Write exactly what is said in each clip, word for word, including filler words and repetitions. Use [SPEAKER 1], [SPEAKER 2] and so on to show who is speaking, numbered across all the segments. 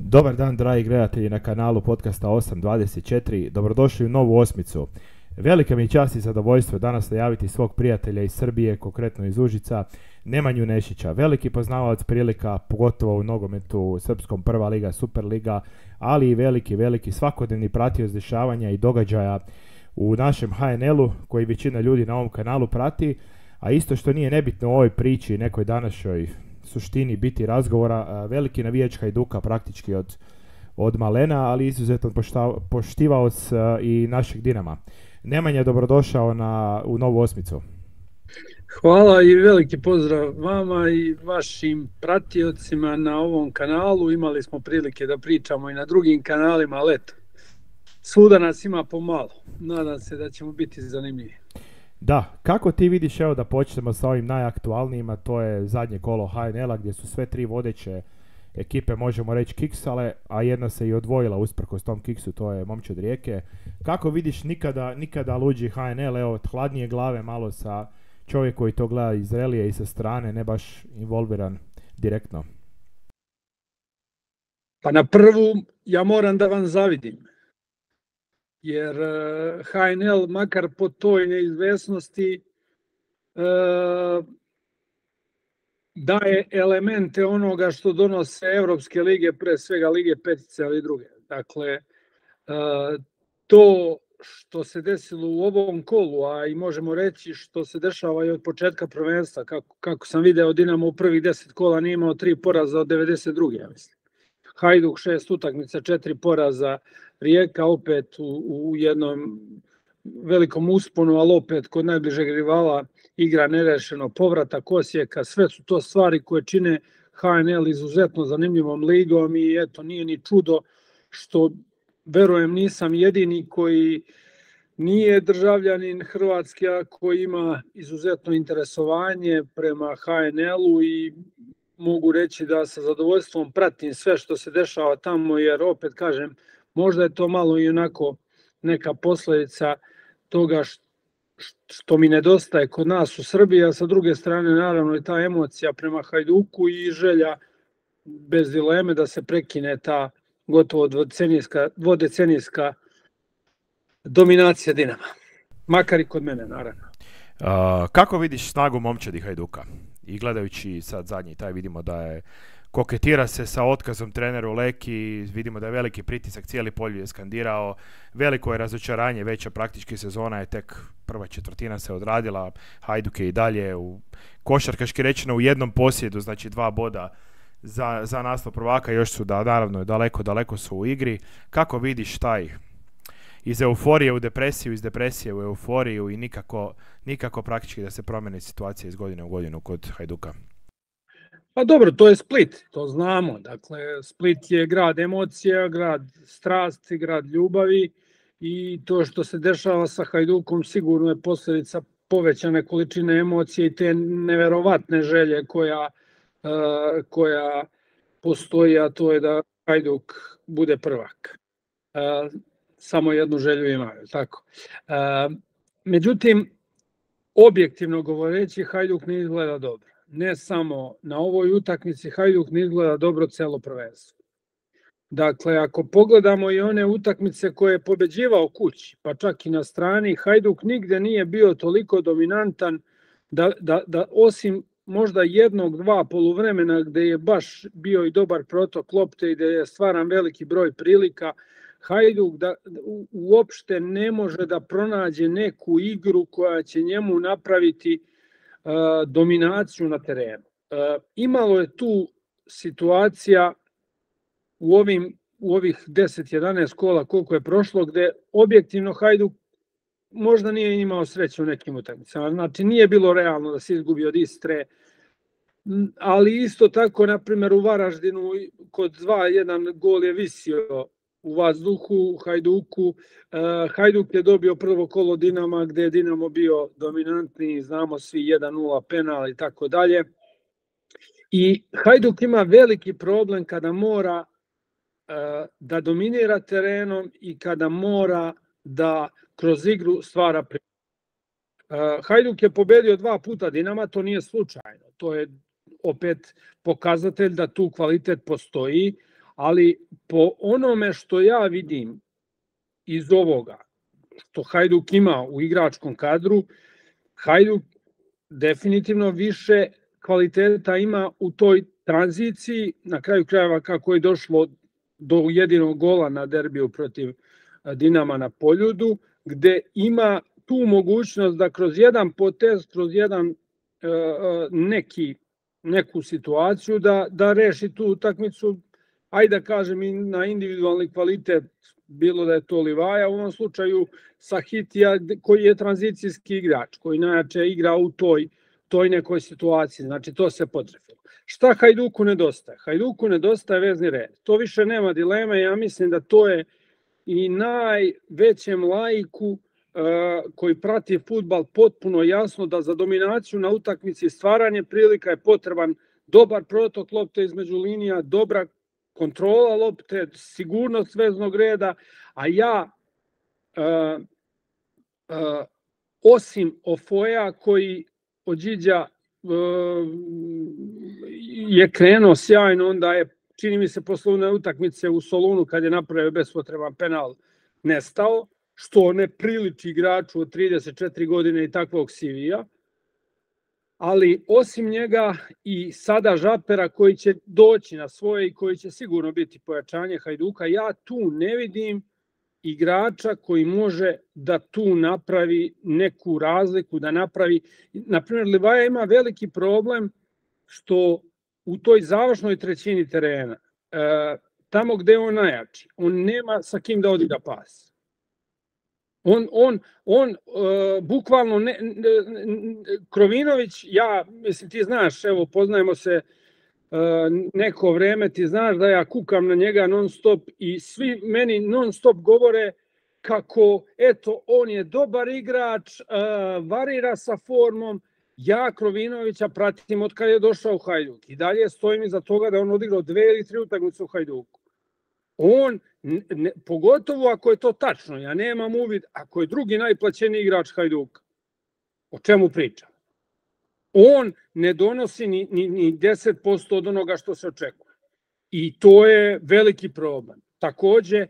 [SPEAKER 1] Dobar dan, dragi gledatelji na kanalu podcasta osam dvadeset četiri. Dobrodošli u novu osmicu. Velika mi je čast i zadovoljstvo danas najaviti svog prijatelja iz Srbije, konkretno iz Užica, Nemanju Nešića. Veliki poznavalac prilika, pogotovo u nogometu, srpskom prva liga, super liga, ali i veliki, veliki svakodnevni pratioc dešavanja i događaja u našem ha en el-u, koji većina ljudi na ovom kanalu prati, a isto što nije nebitno u ovoj priči, nekoj današnjoj suštini biti razgovora, veliki navijač Hajduka praktički od, od malena, ali izuzetno poštivaoc i našeg Dinama. Nemanja, dobrodošao na, u novu osmicu.
[SPEAKER 2] Hvala i veliki pozdrav vama i vašim pratiocima na ovom kanalu. Imali smo prilike da pričamo i na drugim kanalima, ali eto, svuda nas ima pomalo. Nadam se da ćemo biti zanimljivi.
[SPEAKER 1] Da, kako ti vidiš, evo da počnemo sa ovim najaktualnijima, to je zadnje kolo ha en el-a gdje su sve tri vodeće ekipe, možemo reći, kiksale, a jedna se i odvojila usprkos tom kiksu, to je Momčad Rijeke. Kako vidiš nikada, nikada luđi ha en el, evo, hladnije glave malo sa čovjek koji to gleda iz relije i sa strane, ne baš involviran direktno?
[SPEAKER 2] Pa na prvu ja moram da vam zavidim, jer ha en el, makar po toj neizvesnosti, daje elemente onoga što donose evropske lige, pre svega lige petice, ali i druge. Dakle, to što se desilo u ovom kolu, a i možemo reći što se dešava i od početka prvenstva, kako, kako sam video, Dinamo u prvih deset kola nije imao tri poraza od devedeset druge, ja mislim. Hajduk šest utakmica, četiri poraza, Rijeka opet u, u jednom velikom usponu, ali opet kod najbližeg rivala igra nerešeno, povratak Osijeka, sve su to stvari koje čine ha en el izuzetno zanimljivom ligom i eto, nije ni čudo što, verujem, nisam jedini koji nije državljanin Hrvatske, a koji ima izuzetno interesovanje prema ha en el-u i mogu reći da sa zadovoljstvom pratim sve što se dešava tamo, jer opet kažem, možda je to malo i onako neka posljedica toga što mi nedostaje kod nas u Srbiji, a sa druge strane naravno i ta emocija prema Hajduku i želja bez dileme da se prekine ta gotovo dvodecenijska, dvodecenijska dominacija Dinama. Makar i kod mene, naravno.
[SPEAKER 1] Uh, kako vidiš snagu Momčadi Hajduka? I gledajući sad zadnji taj, vidimo da je koketira se sa otkazom treneru Leki, vidimo da je veliki pritisak, cijeli polju je skandirao, veliko je razočaranje, veća praktički sezona je tek prva četvrtina se odradila, Hajduk je i dalje u košarkaški rečeno u jednom posjedu, znači dva boda za, za naslov prvaka, još su da naravno daleko, daleko su u igri. Kako vidiš taj iz euforije u depresiju, iz depresije u euforiju i nikako, nikako praktički da se promene situacija iz godine u godinu kod Hajduka?
[SPEAKER 2] Pa dobro, to je Split, to znamo. Dakle, Split je grad emocija, grad strasti, grad ljubavi i to što se dešava sa Hajdukom sigurno je posljedica povećane količine emocije i te neverovatne želje koja, uh, koja postoji, a to je da Hajduk bude prvak. Uh, samo jednu želju imaju, tako. Uh, međutim, objektivno govoreći, Hajduk ne izgleda dobro. Ne samo na ovoj utakmici, Hajduk ne izgleda dobro celo prvenstvo. Dakle, ako pogledamo i one utakmice koje je pobeđivao kući, pa čak i na strani, Hajduk nigde nije bio toliko dominantan da, da, da osim možda jednog, dva poluvremena gde je baš bio i dobar protok lopte i gde je stvaran veliki broj prilika, Hajduk da, u, uopšte ne može da pronađe neku igru koja će njemu napraviti uh, dominaciju na terenu. Uh, imalo je tu situacija u, ovim, u ovih deset jedanaest kola koliko je prošlo, gde objektivno Hajduk možda nije imao sreće u nekim utakmicama. Znači nije bilo realno da se izgubi od Istre, ali isto tako, na primjer, u Varaždinu kod dva jedan gol je visio u vazduhu, u Hajduku. Hajduk je dobio prvo kolo Dinama gde je Dinamo bio dominantni, znamo svi jedan nula penal i tako dalje. I Hajduk ima veliki problem kada mora da dominira terenom i kada mora da kroz igru stvara priliku. Hajduk je pobedio dva puta Dinama, to nije slučajno. To je opet pokazatelj da tu kvalitet postoji, ali po onome što ja vidim iz ovoga, što Hajduk ima u igračkom kadru, Hajduk definitivno više kvaliteta ima u toj tranziciji, na kraju krajeva kako je došlo do jedinog gola na derbiju protiv Dinama na Poljudu, gde ima tu mogućnost da kroz jedan potez, kroz jedan neki, neku situaciju da, da reši tu utakmicu, ajde da kažem i na individualni kvalitet, bilo da je to Livaja, u ovom slučaju Sahitija koji je tranzicijski igrač, koji najjače igra u toj, toj nekoj situaciji, znači to se potrefilo. Šta Hajduku nedostaje? Hajduku nedostaje vezni red. To više nema dileme, ja mislim da to je i najvećem laiku koji prati fudbal potpuno jasno da za dominaciju na utakmici stvaranje prilika je potreban dobar protok lopte između linija, dobra kontrola lopte, sigurnost veznog reda, a ja uh, uh, osim Ofoja koji od Điđa uh, je krenuo sjajno, onda je, čini mi se, posle one utakmice u Solunu kad je napravio bespotreban penal, nestao, što ne priliči igraču od trideset četiri godine i takvog C V-a. Ali osim njega i sada Žapera koji će doći na svoje i koji će sigurno biti pojačanje Hajduka, ja tu ne vidim igrača koji može da tu napravi neku razliku, da napravi, na primjer Livaja ima veliki problem što u toj završnoj trećini terena, tamo gde je on najjači, on nema sa kim da odigra pas. On, on, on uh, bukvalno, ne, ne, Krovinović, ja, mislim, ti znaš, evo, poznajemo se uh, neko vreme, ti znaš da ja kukam na njega non stop i svi meni non stop govore kako, eto, on je dobar igrač, uh, varira sa formom. Ja Krovinovića pratim od kada je došao u Hajduk i dalje stojim iza toga da on odigrao dve ili tri utakmice u Hajduku. On, ne, pogotovo ako je to tačno, ja nemam uvid, ako je drugi najplaćeniji igrač Hajduka, o čemu pričam? On ne donosi ni, ni, ni deset posto od onoga što se očekuje. I to je veliki problem. Takođe,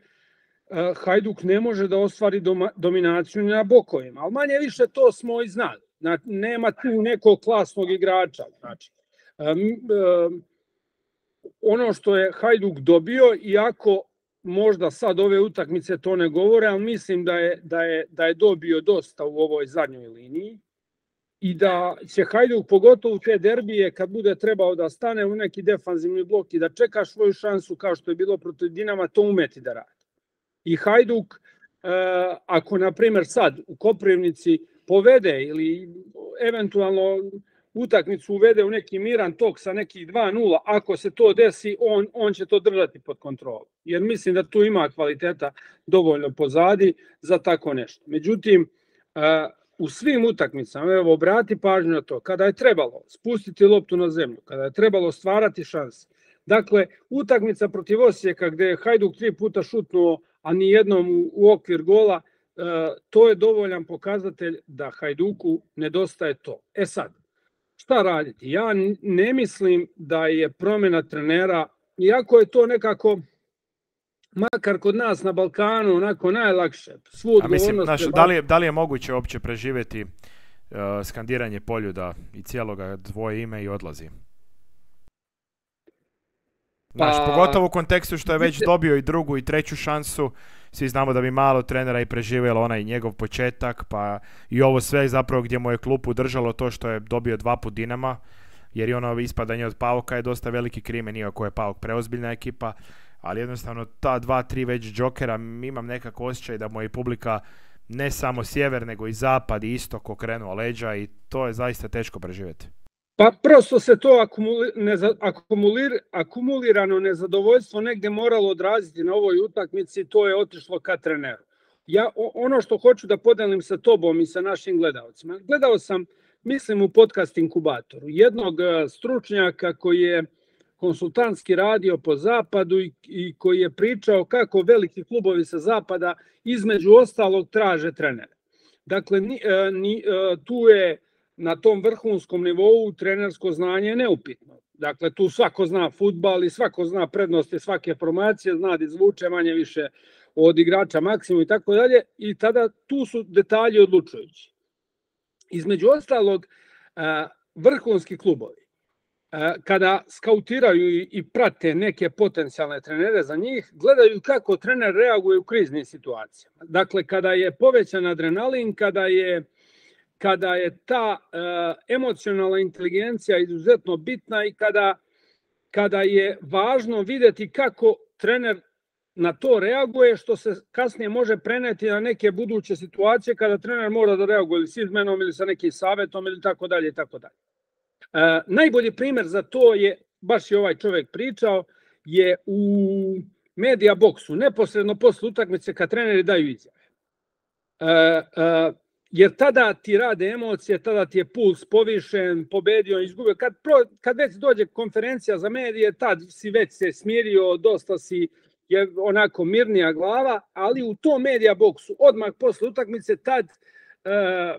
[SPEAKER 2] Hajduk ne može da ostvari doma, dominaciju na bokovima, ali manje više to smo i znali. Znači, nema tu nekog klasnog igrača. Znači, um, um, ono što je Hajduk dobio, iako možda sad ove utakmice to ne govore, ali mislim da je, da je, da je dobio dosta u ovoj zadnjoj liniji i da će Hajduk, pogotovo te derbije, kad bude trebao da stane u neki defanzivni blok i da čeka svoju šansu kao što je bilo protiv Dinama, to umeti da radi. I Hajduk, eh, ako na primjer sad u Koprivnici povede ili eventualno utakmicu uvede u neki miran tok sa nekih dva nula, ako se to desi, on, on će to držati pod kontrolom. Jer mislim da tu ima kvaliteta dovoljno pozadi za tako nešto. Međutim, u svim utakmicama, evo, obrati pažnju na to, kada je trebalo spustiti loptu na zemlju, kada je trebalo stvarati šanse. Dakle, utakmica protiv Osijeka gde je Hajduk tri puta šutnuo, a ni jednom u okvir gola, to je dovoljan pokazatelj da Hajduku nedostaje to. E sad, šta raditi? Ja ne mislim da je promjena trenera, iako je to nekako, makar kod nas na Balkanu, onako najlakše. Svu
[SPEAKER 1] A mislim, naš, da, li je, da li je moguće uopće preživjeti uh, skandiranje Poljuda i cijeloga dvoje ime i odlazi? Znaš, pa, pogotovo u kontekstu što je već dobio i drugu i treću šansu, svi znamo da bi malo trenera i preživjelo onaj njegov početak, pa i ovo sve zapravo gdje mu je klupu držalo to što je dobio dva put Dinama, jer i ono ispadanje od Pauka je dosta veliki krimen, iako je Pauk preozbiljna ekipa, ali jednostavno ta dva, tri već džokera, imam nekako osjećaj da mu je publika ne samo sjever, nego i zapad i istok okrenuo leđa i to je zaista teško preživjeti.
[SPEAKER 2] Pa prosto se to akumuli, neza, akumulir, akumulirano nezadovoljstvo negdje moralo odraziti na ovoj utakmici, to je otišlo ka treneru. Ja ono što hoću da podelim sa tobom i sa našim gledalcima, gledao sam, mislim, u podcast Inkubatoru, jednog stručnjaka koji je konsultantski radio po zapadu i, i koji je pričao kako veliki klubovi sa zapada između ostalog traže trenere. Dakle, ni, ni, tu je na tom vrhunskom nivou trenersko znanje je neupitno. Dakle, tu svako zna fudbal i svako zna prednosti svake formacije, zna da izvuče manje više od igrača maksimum i tako dalje, i tada tu su detalji odlučujući. Između ostalog, vrhunski klubovi, kada skautiraju i prate neke potencijalne trenere za njih, gledaju kako trener reaguje u kriznim situacijama. Dakle, kada je povećan adrenalin, kada je, kada je ta emocionalna inteligencija izuzetno bitna i kada, kada je važno vidjeti kako trener na to reaguje, što se kasnije može preneti na neke buduće situacije kada trener mora da reaguje ili s izmenom ili sa nekim savjetom ili tako dalje i tako dalje. E, najbolji primjer za to je, baš je ovaj čovjek pričao, je u media boksu, neposredno posle utakmice kad treneri daju izjave. E, e, jer tada ti rade emocije, tada ti je puls povišen, pobedio, izgubio. Kad, pro, kad već dođe konferencija za medije, tad si već se smirio, dosta si je onako mirnija glava, ali u tom media boksu odmah posle utakmice tad e, e,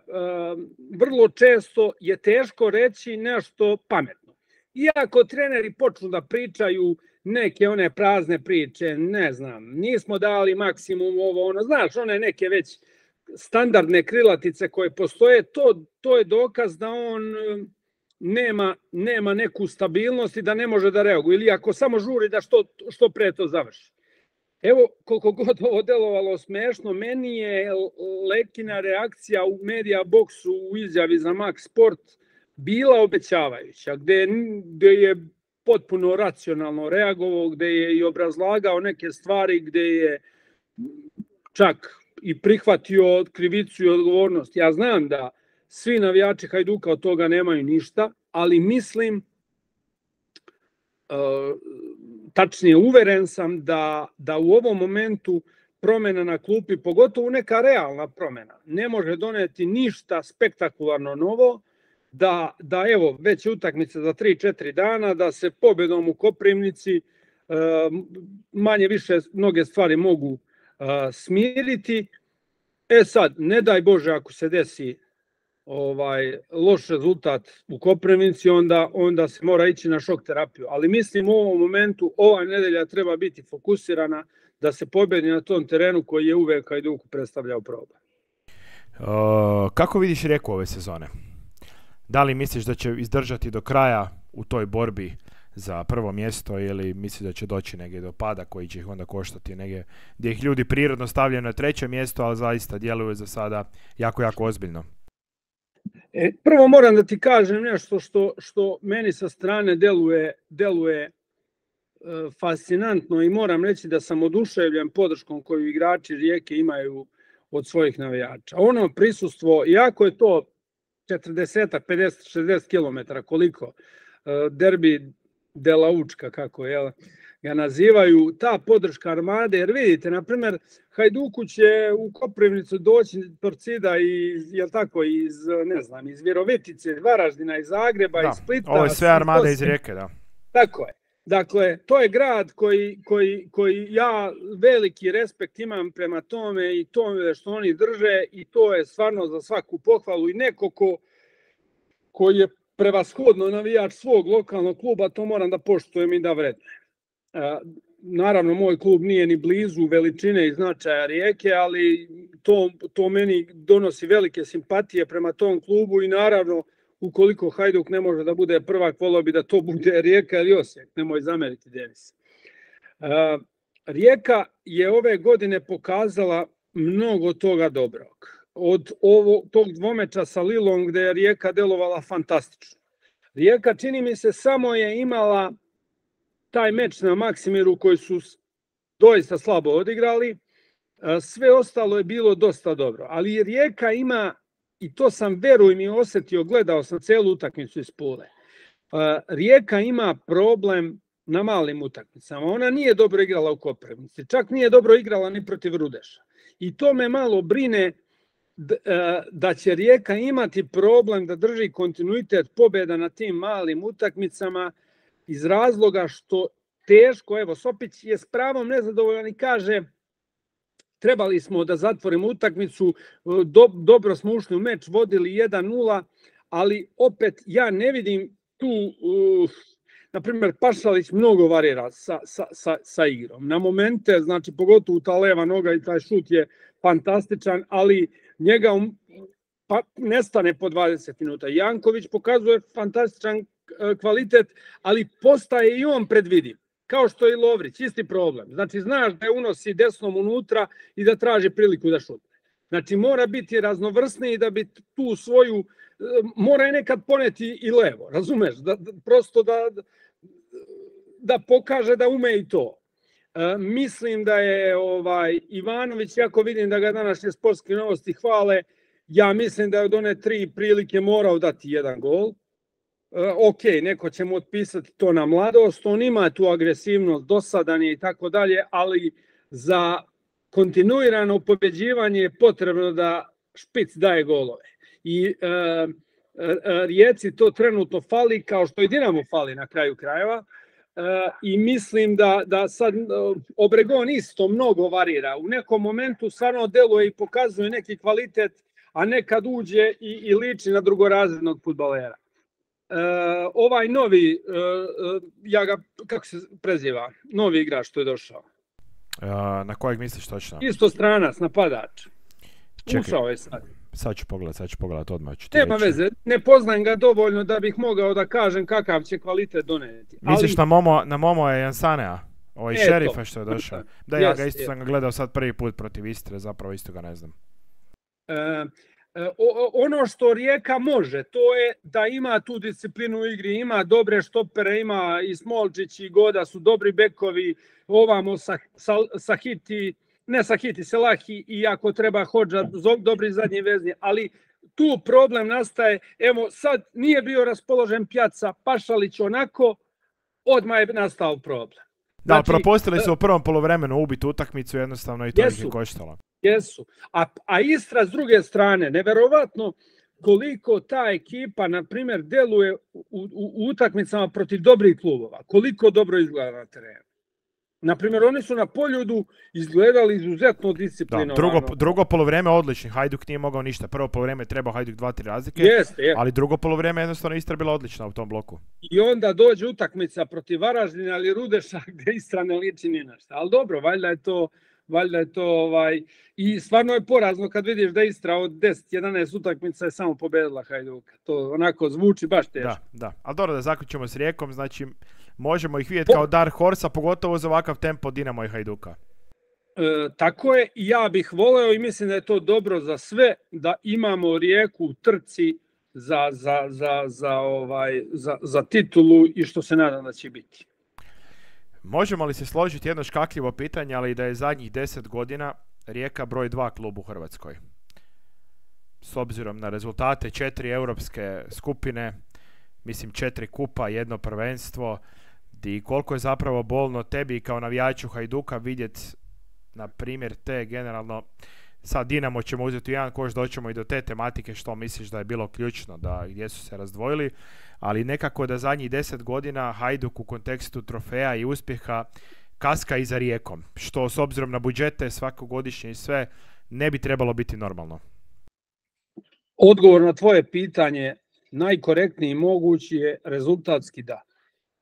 [SPEAKER 2] vrlo često je teško reći nešto pametno. Iako treneri počnu da pričaju neke one prazne priče, ne znam, nismo dali maksimum ovo, ono, znaš, one neke već standardne krilatice koje postoje, to, to je dokaz da on nema, nema neku stabilnost i da ne može da reaguje, ili ako samo žuri da što, što pre to završi. Evo, koliko god ovo delovalo smešno, meni je Lekina reakcija u media boksu u izjavi za Max Sport bila obećavajuća, gde, gde je potpuno racionalno reagovao, gde je i obrazlagao neke stvari, gde je čak i prihvatio krivicu i odgovornost. Ja znam da svi navijači Hajduka od toga nemaju ništa, ali mislim, tačnije uveren sam da, da u ovom momentu promjena na klupi, pogotovo neka realna promjena, ne može doneti ništa spektakularno novo, da, da evo, već je utakmica za tri četiri dana, da se pobjedom u Koprivnici manje više mnoge stvari mogu smiriti. E sad, ne daj Bože ako se desi ovaj loš rezultat u Koprivnici, onda, onda se mora ići na šok terapiju. Ali mislim u ovom momentu ova nedelja treba biti fokusirana da se pobjedi na tom terenu koji je uvek Hajduku predstavljao problem.
[SPEAKER 1] Uh, kako vidiš Rijeku ove sezone? Da li misliš da će izdržati do kraja u toj borbi za prvo mjesto ili misliš da će doći negdje do pada koji će ih onda koštati negdje gdje ih ljudi prirodno stavljaju na treće mjesto, ali zaista djeluju za sada jako, jako ozbiljno?
[SPEAKER 2] E, prvo moram da ti kažem nešto što, što meni sa strane deluje, deluje e, fascinantno i moram reći da sam oduševljen podrškom koju igrači Rijeke imaju od svojih navijača. Ono prisustvo, iako je to četrdeset, pedeset, šezdeset kilometara, koliko e, derbi de la Učka, kako je, ga nazivaju, ta podrška Armade, jer vidite, na primjer, Hajduku će u Koprivnicu doći Torcida iz, jel tako, iz, ne znam, iz Virovitice, iz Varaždina, iz Zagreba, da, iz Splita.
[SPEAKER 1] Ovo je sve Armada iz Rijeke, da.
[SPEAKER 2] Tako je. Dakle, to je grad koji, koji, koji ja veliki respekt imam prema tome i tome što oni drže i to je stvarno za svaku pohvalu i neko ko, koji je prevashodno navijač svog lokalnog kluba, to moram da poštujem i da vrednujem. Naravno, moj klub nije ni blizu veličine i značaja Rijeke, ali to, to meni donosi velike simpatije prema tom klubu i naravno, ukoliko Hajduk ne može da bude prvak, volio bi da to bude Rijeka ili Osijek, nemoj zameriti Denis. Rijeka je ove godine pokazala mnogo toga dobrog. Od ovo, tog dvomeča sa Lilom gde je Rijeka delovala fantastično. Rijeka, čini mi se, samo je imala taj meč na Maksimiru koji su doista slabo odigrali. Sve ostalo je bilo dosta dobro. Ali Rijeka ima, i to sam verujem i osjetio, gledao sam celu utakmicu iz Pule. Rijeka ima problem na malim utakmicama. Ona nije dobro igrala u Koprivnici. Čak nije dobro igrala ni protiv Rudeša. I to me malo brine da će Rijeka imati problem da drži kontinuitet pobjeda na tim malim utakmicama iz razloga što teško, evo Sopić je s pravom nezadovoljan i kaže trebali smo da zatvorimo utakmicu, do, dobro smo ušli u meč, vodili jedan nula, ali opet ja ne vidim tu, uh, na primjer, Pašalić mnogo varira sa, sa, sa, sa igrom. Na momente, znači, pogotovo ta leva noga i taj šut je fantastičan, ali njega um, pa, nestane po dvadeset minuta. Janković pokazuje fantastičan kvalitet, ali postaje i on predvidiv. Kao što je i Lovrić, isti problem. Znači, znaš da je unosi desnom unutra i da traži priliku da šutne. Znači, mora biti raznovrsniji da bi tu svoju, mora je nekad poneti i levo, razumeš? Da, da, prosto da, da pokaže da ume i to. E, mislim da je ovaj Ivanović, jako vidim da ga današnje sportske novosti hvale, ja mislim da je od one tri prilike morao dati jedan gol. E, ok, neko će mu otpisati to na mladost, on ima tu agresivnost, dosadan je i tako dalje, ali za kontinuirano pobeđivanje je potrebno da špic daje golove. I e, e, Rijeci to trenutno fali, kao što i Dinamo fali na kraju krajeva. E, I mislim da, da sad Obregon isto mnogo varira. U nekom momentu stvarno deluje i pokazuje neki kvalitet, a nekad uđe i, i liči na drugorazrednog fudbalera. E, ovaj novi, e, ja ga, kako se preziva, novi igrač što je došao.
[SPEAKER 1] Uh, na kojeg misliš točno?
[SPEAKER 2] Isto stranac, napadač. Čekaj, ušao je sad.
[SPEAKER 1] Sad ću pogledat, sad ću pogledat odmah. Ću ti
[SPEAKER 2] Nema
[SPEAKER 1] reći.
[SPEAKER 2] veze, ne poznajem ga dovoljno da bih mogao da kažem kakav će kvalitet doneti.
[SPEAKER 1] Misliš
[SPEAKER 2] ali...
[SPEAKER 1] na Momo, na Momo je Jansanea? Ovaj
[SPEAKER 2] Eto.
[SPEAKER 1] Šerifa što je došao. Da, ja
[SPEAKER 2] Yes,
[SPEAKER 1] ga isto
[SPEAKER 2] yes.
[SPEAKER 1] sam ga gledao sad prvi put protiv Istre, zapravo isto ga ne znam.
[SPEAKER 2] E, e, o, ono što Rijeka može, to je da ima tu disciplinu u igri, ima dobre štopere, ima i Smolčić i Goda su dobri bekovi, ovamo sa, sa, Sahiti, ne Sahiti, Selahi i ako treba Hodža, dobri zadnji vezni, ali tu problem nastaje, evo sad nije bio raspoložen Pjaca, Pašalić onako, odmah je nastao problem.
[SPEAKER 1] Da,
[SPEAKER 2] Znači,
[SPEAKER 1] propustili su u prvom poluvremenu ubiti utakmicu jednostavno i to ih je
[SPEAKER 2] jesu.
[SPEAKER 1] koštalo.
[SPEAKER 2] Jesu. A, a Istra s druge strane, neverovatno koliko ta ekipa, na primjer, deluje u, u, u utakmicama protiv dobrih klubova. Koliko dobro izgleda na terenu. Na primjer, oni su na Poljudu izgledali izuzetno disciplinovano.
[SPEAKER 1] Da, drugo, drugo poluvreme odlični. Hajduk nije mogao ništa. Prvo poluvreme je trebao Hajduk dva tri razlike,
[SPEAKER 2] Jeste, je.
[SPEAKER 1] ali drugo poluvreme jednostavno Istra bila odlična u tom bloku.
[SPEAKER 2] I onda dođe utakmica protiv Varaždina ili Rudeša gdje Istra ne liči ni na šta. Ali dobro, valjda je to... Valjda je to ovaj i stvarno je porazno kad vidiš da Istra od deset jedanaest utakmica je samo pobedila Hajduka. To onako zvuči baš teško.
[SPEAKER 1] Da, da. Ali dobro da zaključimo s Rijekom, znači možemo ih vidjeti kao Dark Horse, a pogotovo za ovakav tempo Dinamo i Hajduka.
[SPEAKER 2] E, tako je, i ja bih voleo i mislim da je to dobro za sve da imamo Rijeku u trci za, za, za, za, ovaj, za, za titulu i što se nadam da će biti.
[SPEAKER 1] Možemo li se složiti jedno škakljivo pitanje, ali da je zadnjih deset godina Rijeka broj dva klub u Hrvatskoj? S obzirom na rezultate četiri europske skupine, mislim četiri kupa, jedno prvenstvo, i koliko je zapravo bolno tebi kao navijaču Hajduka vidjeti, na primjer, te generalno, sad Dinamo ćemo uzeti jedan koš, doćemo i do te tematike što misliš da je bilo ključno, da gdje su se razdvojili, ali nekako da zadnjih deset godina Hajduk u kontekstu trofeja i uspjeha kaska i za Rijekom, što s obzirom na budžete svakogodišnje i sve ne bi trebalo biti normalno.
[SPEAKER 2] Odgovor na tvoje pitanje najkorektniji mogući je rezultatski da.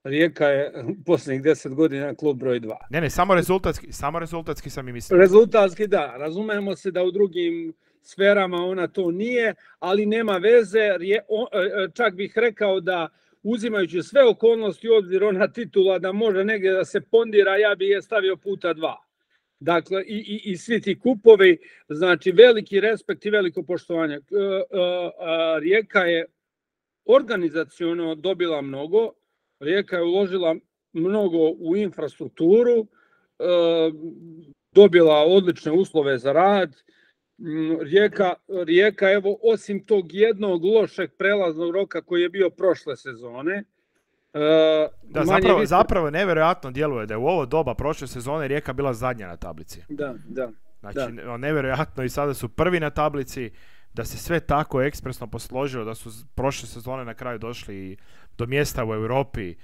[SPEAKER 2] Rijeka je posljednjih deset godina klub broj dva.
[SPEAKER 1] Ne, ne, samo rezultatski, samo rezultatski sam i mislio.
[SPEAKER 2] Rezultatski da, razumemo se da u drugim sferama ona to nije, ali nema veze, čak bih rekao da uzimajući sve okolnosti u obzir ona titula da može negdje da se pondira, ja bih je stavio puta dva. Dakle, i, i, i svi ti kupovi, znači veliki respekt i veliko poštovanje. Rijeka je organizaciono dobila mnogo, Rijeka je uložila mnogo u infrastrukturu, dobila odlične uslove za rad. Rijeka, Rijeka, evo, osim tog jednog lošeg prelaznog roka koji je bio prošle sezone,
[SPEAKER 1] da, zapravo, više... zapravo nevjerojatno djeluje da je u ovo doba prošle sezone Rijeka bila zadnja na tablici.
[SPEAKER 2] Da, da.
[SPEAKER 1] Znači,
[SPEAKER 2] da.
[SPEAKER 1] nevjerojatno i sada su prvi na tablici, da se sve tako ekspresno posložilo, da su prošle sezone na kraju došli do mjesta u Europi.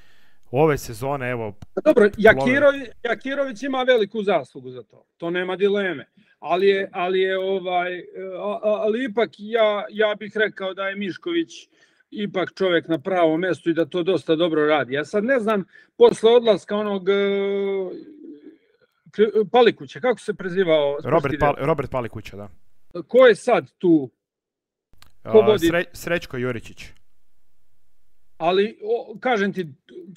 [SPEAKER 1] Ove sezone, evo...
[SPEAKER 2] Dobro, Jakirović, Jakirović ima veliku zaslugu za to, to nema dileme. Ali je, ali je ovaj, ali ipak ja, ja bih rekao da je Mišković ipak čovjek na pravom mjestu i da to dosta dobro radi. Ja sad ne znam, posle odlaska onog Palikuća, kako se prezivao?
[SPEAKER 1] Robert, Pal, Robert Palikuća, da.
[SPEAKER 2] Ko je sad tu?
[SPEAKER 1] Ko Sre, Srećko Juričić.
[SPEAKER 2] Ali, o, kažem ti,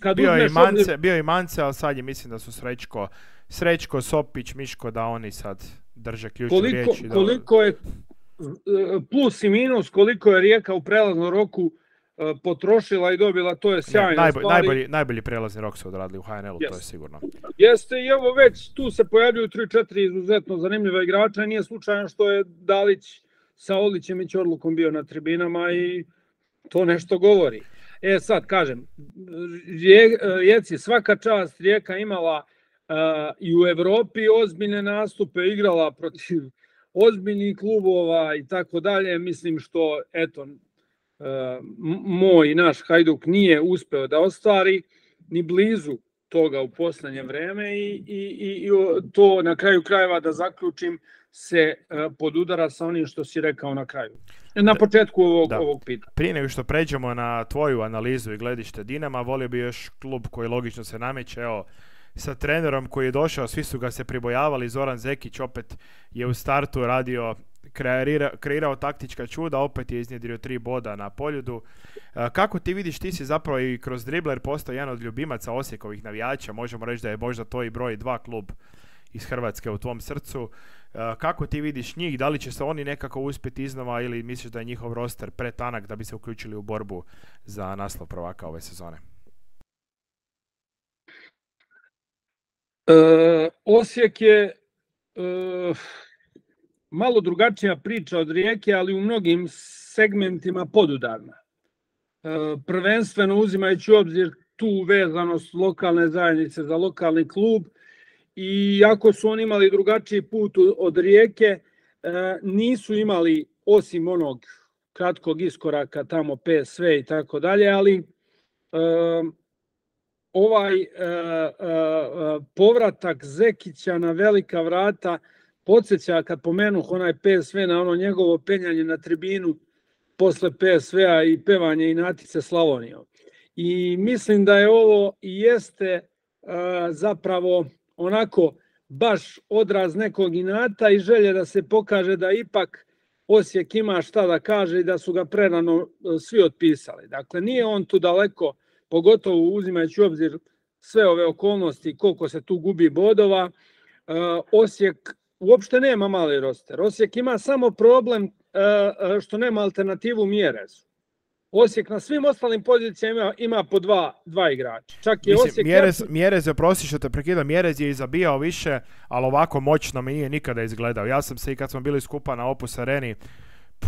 [SPEAKER 2] kad
[SPEAKER 1] bio
[SPEAKER 2] uzmeš...
[SPEAKER 1] I Mance, ovdje... Bio i Mance, ali sad je mislim da su Srećko, Srećko, Sopić, Miško, da oni sad drže ključnu
[SPEAKER 2] koliko,
[SPEAKER 1] riječ. Da...
[SPEAKER 2] Koliko je plus i minus, koliko je Rijeka u prelaznom roku potrošila i dobila, to je sjajna
[SPEAKER 1] najbolj,
[SPEAKER 2] stvari.
[SPEAKER 1] Najbolji, najbolji prelazni rok su odradili u H N L-u, yes. To je sigurno.
[SPEAKER 2] Jeste i evo već tu se pojavljuju tri četiri izuzetno zanimljiva igrača. Nije slučajno što je Dalić sa Olićem i Ćorlukom bio na tribinama i to nešto govori. E sad kažem, Rijeci svaka čast, Rijeka imala uh, i u Evropi ozbiljne nastupe, igrala protiv ozbiljnih klubova i tako dalje. Mislim što, eto, Uh, moj naš Hajduk nije uspeo da ostvari ni blizu toga u posljednje vreme i, i, i to na kraju krajeva da zaključim se uh, podudara sa onim što si rekao na kraju. Na početku ovog, ovog pitanja.
[SPEAKER 1] Prije nego što pređemo na tvoju analizu i gledište Dinama, volio bi još klub koji logično se nameće, evo, sa trenerom koji je došao, svi su ga se pribojavali, Zoran Zekić opet je u startu radio, kreira, kreirao taktička čuda, opet je iznjedrio tri boda na Poljudu. Kako ti vidiš, ti si zapravo i kroz dribler postao jedan od ljubimaca Osijekovih navijača, možemo reći da je možda to i broj dva klub iz Hrvatske u tvom srcu. Kako ti vidiš njih, da li će se oni nekako uspjeti iznova ili misliš da je njihov roster pretanak da bi se uključili u borbu za naslov prvaka ove sezone?
[SPEAKER 2] E, Osijek je e, malo drugačija priča od Rijeke, ali u mnogim segmentima podudarna. E, prvenstveno uzimajući u obzir tu vezanost lokalne zajednice za lokalni klub i ako su oni imali drugačiji put od Rijeke, e, nisu imali osim onog kratkog iskoraka tamo P S V i tako dalje, ali e, ovaj uh, uh, povratak Zekića na velika vrata podsjeća, kad pomenuh onaj P S V, na ono njegovo penjanje na tribinu posle P S V-a i pevanje Inatice Slavonijom. I mislim da je ovo i jeste uh, zapravo onako baš odraz nekog inata i želje da se pokaže da ipak Osijek ima šta da kaže i da su ga prerano uh, svi otpisali. Dakle, nije on tu daleko, pogotovo uzimajući u obzir sve ove okolnosti, koliko se tu gubi bodova. Osijek uopšte nema mali roster. Osijek ima samo problem što nema alternativu Mjerezu. Osijek na svim ostalim pozicijama ima, ima po dva, dva igrača. Čak je
[SPEAKER 1] Mislim,
[SPEAKER 2] Osijek...
[SPEAKER 1] Mjerez, Mjerez je, prosti što te prekidam, Mjerez je i zabijao više, ali ovako moćno mi nije nikada izgledao. Ja sam se i kad smo bili skupa na Opus Areni,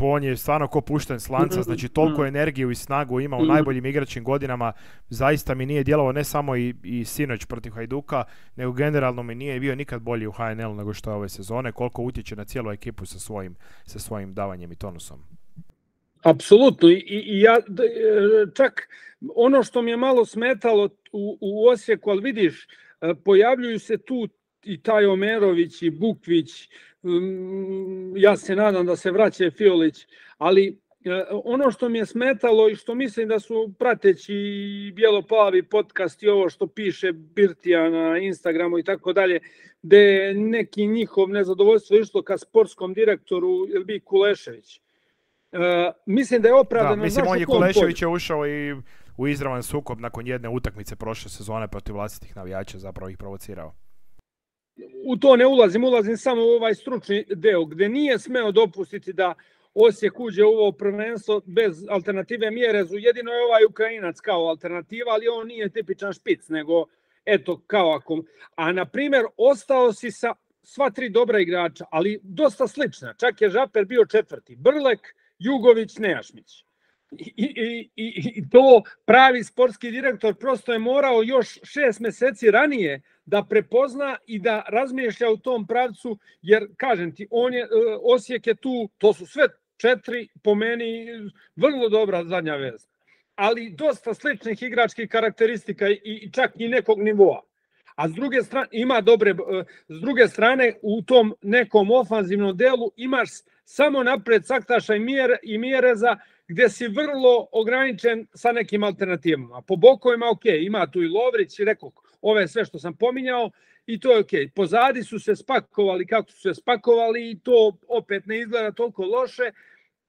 [SPEAKER 1] on je stvarno ko pušten s lanca, znači toliko energiju i snagu ima u najboljim igračkim godinama, zaista mi nije djelovao ne samo i, i sinoć protiv Hajduka, nego generalno mi nije bio nikad bolji u H N L nego što je ove sezone, koliko utječe na cijelu ekipu sa svojim, sa svojim davanjem i tonusom.
[SPEAKER 2] Apsolutno, i, i ja čak ono što mi je malo smetalo u, u Osijeku, ali vidiš, pojavljuju se tu i taj Omerović i Bukvić, ja se nadam da se vraća Fiolić, ali ono što mi je smetalo i što mislim da su prateći bijelo-plavi podcast i ovo što piše Birtija na Instagramu i tako dalje, gde je neki njihov nezadovoljstvo išlo ka sportskom direktoru Elbi Kulešević. Uh, mislim da je opravdano.
[SPEAKER 1] Da, mislim, on je Kulešević je ušao i u izravan sukob nakon jedne utakmice prošle sezone protiv vlastitih navijača, zapravo ih provocirao.
[SPEAKER 2] U to ne ulazim, ulazim samo u ovaj stručni deo, gde nije smeo dopustiti da Osijek uđe u ovo prvenstvo bez alternative Mjerezu. Jedino je ovaj Ukrajinac kao alternativa, ali on nije tipičan špic, nego eto kao ako... A na primjer, ostao si sa sva tri dobra igrača, ali dosta slična. Čak je Žaper bio četvrti. Brlek, Jugović, Nejašmić. I, i, i, i to pravi sportski direktor prosto je morao još šest mjeseci ranije da prepozna i da razmišlja u tom pravcu, jer kažem ti, on je, Osijek je tu, to su sve četiri, po meni, vrlo dobra zadnja veza. Ali dosta sličnih igračkih karakteristika i, i čak i nekog nivoa. A s druge strane, ima dobre, s druge strane, u tom nekom ofanzivnom delu imaš samo napred Saktaša i, Mjere, i Mjereza gdje si vrlo ograničen sa nekim alternativama. Po bokovima, ok, ima tu i Lovrić, rekao, ove sve što sam pominjao, i to je ok. Pozadi su se spakovali kako su se spakovali i to opet ne izgleda toliko loše.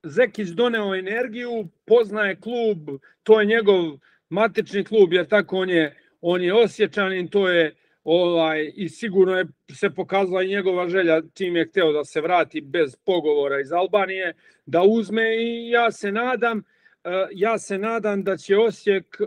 [SPEAKER 2] Zekić doneo energiju, poznaje klub, to je njegov matični klub, jer tako on je, on je Osječanin, to je ovaj, i sigurno je se pokazala i njegova želja čim je hteo da se vrati bez pogovora iz Albanije, da uzme i ja se nadam, ja se nadam da će Osijek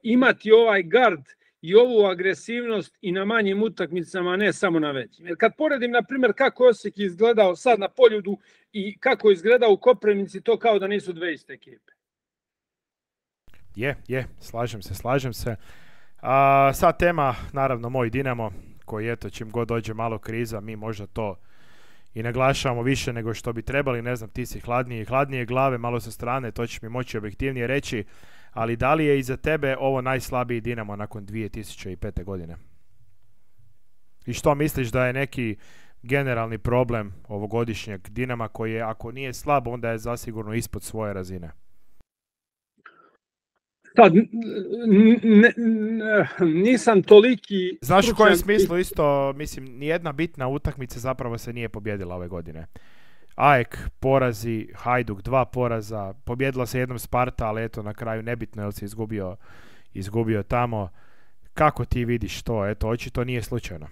[SPEAKER 2] imati ovaj gard i ovu agresivnost i na manjim utakmicama, ne samo na većim. Jer kad poredim, na primjer, kako Osijek izgledao sad na Poljudu i kako izgledao u Koprivnici, to kao da nisu dve iste ekipe.
[SPEAKER 1] Je, je, slažem se, slažem se. A, sad tema, naravno, moj Dinamo, koji eto, čim god dođe malo kriza, mi možda to i naglašavamo više nego što bi trebali, ne znam, ti si hladnije, hladnije glave, malo sa strane, to će mi moći objektivnije reći, ali da li je iza tebe ovo najslabiji Dinamo nakon dvije tisuće pete. godine? I što misliš da je neki generalni problem ovogodišnjeg Dinama koji je, ako nije slab, onda je zasigurno ispod svoje razine?
[SPEAKER 2] Sad, ne, nisam toliki...
[SPEAKER 1] Znaš u kojem smislu isto, mislim, nijedna bitna utakmica zapravo se nije pobjedila ove godine. A E K porazi, Hajduk dva poraza, pobjedila se jednom Sparta, ali eto na kraju nebitno jer se izgubio, izgubio tamo. Kako ti vidiš to? Eto, očito nije slučajno.